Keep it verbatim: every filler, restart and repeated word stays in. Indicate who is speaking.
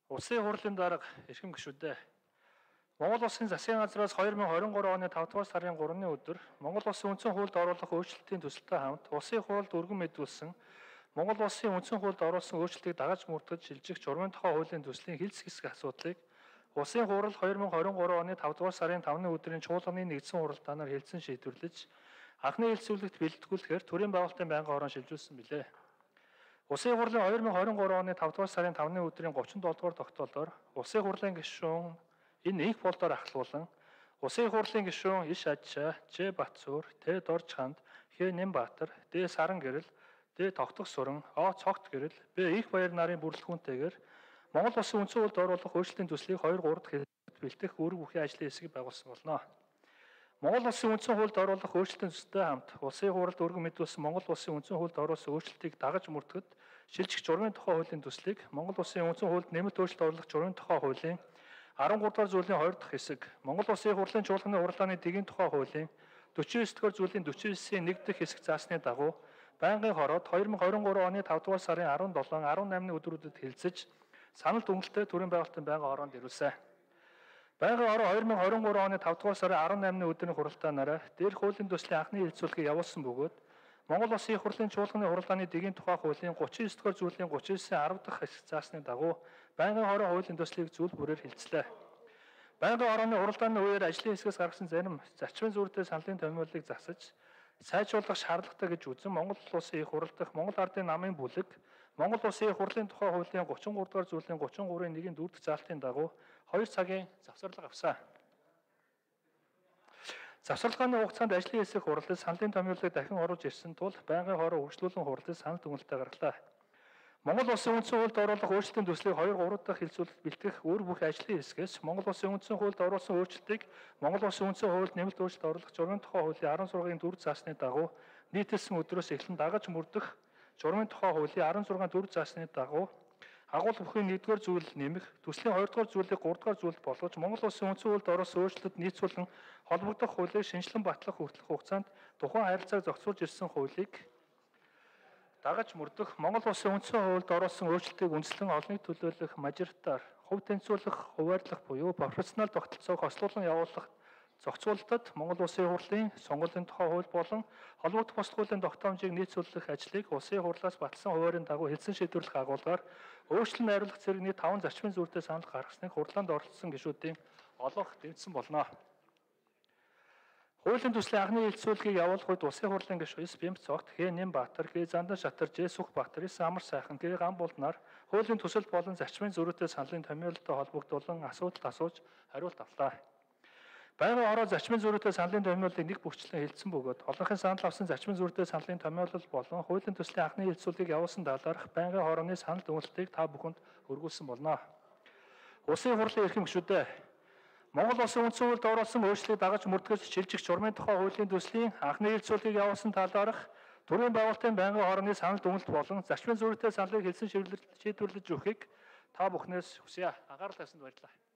Speaker 1: Улсын хурлын дарга эрхэм гишүүдээ. Монгол Улсын засгийн газраас хоёр мың хорин гурав оны тавд дугаар сарын гуравны өдөр Монгол Улсын үндсэн хуульд оруулах өөрчлөлтийн төсөлтэй хамт улсын хуульд өргөн мэдүүлсэн Монгол Улсын үндсэн хуульд оруулсан өөрчлөлтийг дагаж мөрдөж шилжих журмын тухай хуулийн төслийн хэлц хэсэг асуудлыг Улсын хурал хоёр мың хорин гурав оны тавд дугаар сарын тавны өдрийн чуулганы нэгдсэн хуралдаанаар хэлсэн шийдвэрлэж анхны хэлцүүлэгт бэлтгүүлэхээр төрийн байгуулалтын байнгын хорон шилжүүлсэн билээ. Улсын хурлын хоёр мың хорин гурав оны тавд дугаар сарын тавны өдрийн гуравчдолтой дугаар тогтоолоор Улсын хурлын гишүүн энэ их болдоор ахлуулан Улсын хурлын гишүүн Иш Ажчаа, Ж Батцуур, Т Дорж ханд, Х Нэмбаатар, Д Саран гэрэл, Д Тогтох сүрэн, О Цогт гэрэл, Б Их Баяр нарын бүрэлдэхүүнтэйгээр Монгол Улсын үндсэн хуульд оруулах өөрчлөлтийн төслийг хоёр гурав дахь хэлбэрт бэлтгэх үүрэг бүхий ажлын хэсгийг байгуулсан болно. Монгол Улсын үндсэн хуульд оруулах өөрчлөлтийн төсөлтэй хамт Улсын хурлд өргөн мэдүүлсэн Монгол Улсын үндсэн хуульд оруулсан өөрчлөлтийг дагаж мөрдөхөд шилжих журмын тухай хуулийн төслийг Монгол Улсын үндсэн хуульд нэмэлт өөрчлөлт оруулах журмын тухай хуулийн арван гурав дугаар зүйлийн хоёр дахь хэсэг, Монгол Улсын хурлын чуулганы хурлааны дэгийн тухай хуулийн дөрвөн ёс дугаар зүйлийн дөрвөн ёсийн нэг дахь хэсэг заасны дагуу байнгын хороод хоёр мың хорин гурав оны тавд дугаар сарын арван долоо, арван наймны өдрүүдэд хэлэлцэж санал дүгнэлттэй төрийн байгуулалтын байнгын хороонд ирүүлсэн. Байнгын хороо хоёр мың хорин гурав оны тавд дугаар сарын арван наймны өдрийн хуралдаанаараа дээрх хуулийн төслийн анхны хэлэлцүүлгийг явуулсан бөгөөд Монгол Улсын их хурлын чуулганы хурлааны дэгийн тухай хуулийн гуравч ёс дугаар зүйлийн гуравч ёсийн арав дахь хэсэг заасны дагуу байнгын хороо хуулийн төслийг зүйл бүрээр хэлцлээ. Байнгын хорооны хуралдааны үеэр ажлын хэсгээс гаргасан зарим зарчмын зүрхтэй саналын томьёолыг засаж сайжруулах шаардлагатай гэж үзэн Монгол Улсын их хурал дахь Монгол Ардын намын бүлэг Монгол Улсын их хурлын тухай хуулийн гуравч гурав дугаар зүйлийн гуравч гурвын нэгний дөрөв дэх заалтын дагуу хоёр цагийн завсарлага авсан. Завсарлагын хугацаанд ажлын хэсэг хурлыг саналын томьёолыг дахин оруулж ирсэн тул байнгын хороо хөгжлүүлэн хурлыг санал дүгнэлтээ гаргалаа. Монгол Улсын үндсэн хуульд оруулах өөрчлөлтийн төслийг хоёр гурав дахь хэлцүүлэлт бэлтгэх үүрэг бүхий ажлын хэсгээс Монгол Улсын үндсэн хуульд оруулсан өөрчлөлтийг Монгол Улсын үндсэн хуульд нэмэлт өөрчлөлт оруулах журмын тухай хуулийн арван зургийн дөрөв заасны дагуу нийтэлсэн өдрөөс эхлэн дагаж мөрдөх журмын тухай хуулийн арван зургийн дөрөв заасны дагуу агуул бүхий нэгдүгээр зүйл нэмэх, төслийн хоёрдугаар зүйлийг гуравдугаар зүйлд болгож Монгол Улсын үндсэн хуульд оруулсан өөрчлөлтөд нийцүүлэн холбогдох хуулийг шинжилэн батлах хүртэлх хугацаанд тухайн харилцааг зохицуулж ирсэн хуулийг дагаж мөрдөх, Монгол Улсын үндсэн хуульд оруулсан өөрчлөлтийг үндэслэн олныг төлөөлөх мажоритар, хувь тэнцвэрлэх, хуваарлах буюу профессионал тогтолцоог хослуулан явуулах зохицуулалтад Монгол Улсын хурлын сонгуулийн тухай хууль болон холбогдох бусад хуулийн тогтоомжийг нийцүүлэх ажлыг Улсын хурлаас батлсан хуваарийн дагуу хэлсэн шийдвэрлэх агуулгаар өөрчлөлт найруулах зэрэг нийт таван зарчмын зүрхтэй санал гаргасныг хурлаанд оролцсон гишүүдийн олонх дэмжсэн болно. Хуулийн төслийн анхны хэлэлцүүлгийг явуулах үед Улсын хурлын гишүүн С Бямц Цогт, Х Нэмбаатар, Г Зандан Шатар, Ж Сүхбаатар, С Амар сайхан, Г Гамболд нар хуулийн төсөл болон зарчмын зөрүүтэй саналын томьёолтой холбогдуулан асуудалд асууж хариулт авлаа. Байнгын хороо зарчмын зөрүүтэй саналын томьёолыг нэг бүрчлэн хэлсэн бөгөөд олонхын санал авсан зарчмын зөрүүтэй саналын томьёолол болон хуулийн төслийн анхны хэлэлцүүлгийг явуулсан талаарх байнгын хорооны санал дүгнэлтийг та бүхэнд хүргүүлсэн болно. Улсын хурлын эрхэм гишүүдээ Монгол Улсын үндсэн хуульд оруулсан өөрчлөлтийг дагаж мөрдгөж шилжих журмын тухай хуулийн төслийн анхны хэлэлцүүлгийг явуулсан талаарх төрийн байгуулалтын байнгын хорооны санал дүгнэлт болон зарчмын зөрүүтэй саналыг хэлсэн шийдвэрлэж өгөхийг та бүхнээс хүсье. Анхаарал тавьсанд баярлалаа.